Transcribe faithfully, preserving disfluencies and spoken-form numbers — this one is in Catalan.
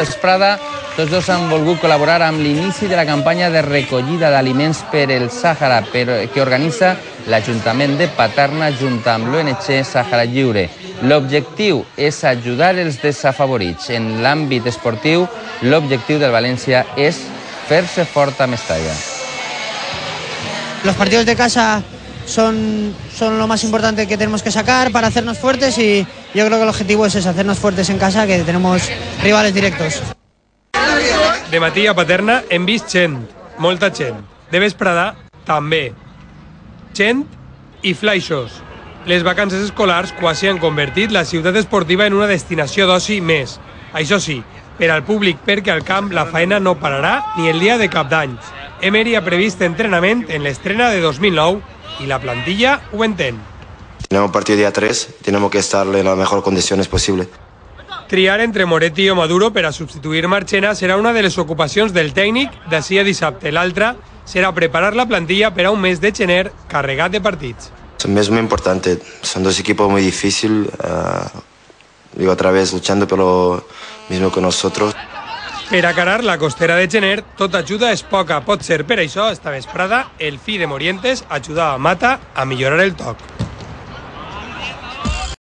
Vesprada, tots dos han volgut col·laborar amb l'inici de la campanya de recollida d'aliments per el Sàhara que organitza l'Ajuntament de Paterna junt amb l'O N G Sàhara Lliure. L'objectiu és ajudar els desafavorits. En l'àmbit esportiu, l'objectiu del València és fer-se fort a Mestalla. Los partidos de casa son, son lo más importante que tenemos que sacar para hacernos fuertes y yo creo que el objetivo es hacernos fuertes en casa, que tenemos rivales directos. De matí a Paterna hem vist gent, molta gent. De vesprada, també. Gent i flaixos. Les vacances escolars quasi han convertit la ciutat esportiva en una destinació d'oci més. Això sí, per al públic, perquè al camp la faena no pararà ni el dia de cap d'any. Emery ha previst entrenament en l'estrena de dos mil nou y la plantilla ho entén. Tenemos partido día tres, tenemos que estar en las mejores condiciones posible. Triar entre Moretti o Maduro per a substituir Marchena serà una de les ocupacions del tècnic d'ací a dissabte. L'altra serà preparar la plantilla per a un mes de gener carregat de partits. Es un mes muy importante, son dos equipos muy difíciles, uh, digo otra vez luchando por lo mismo que nosotros. Per acarar la costera de gener, tota ajuda és poca. Pot ser per això, esta vesprada, el fi de Morientes ajuda a Mata a millorar el toc.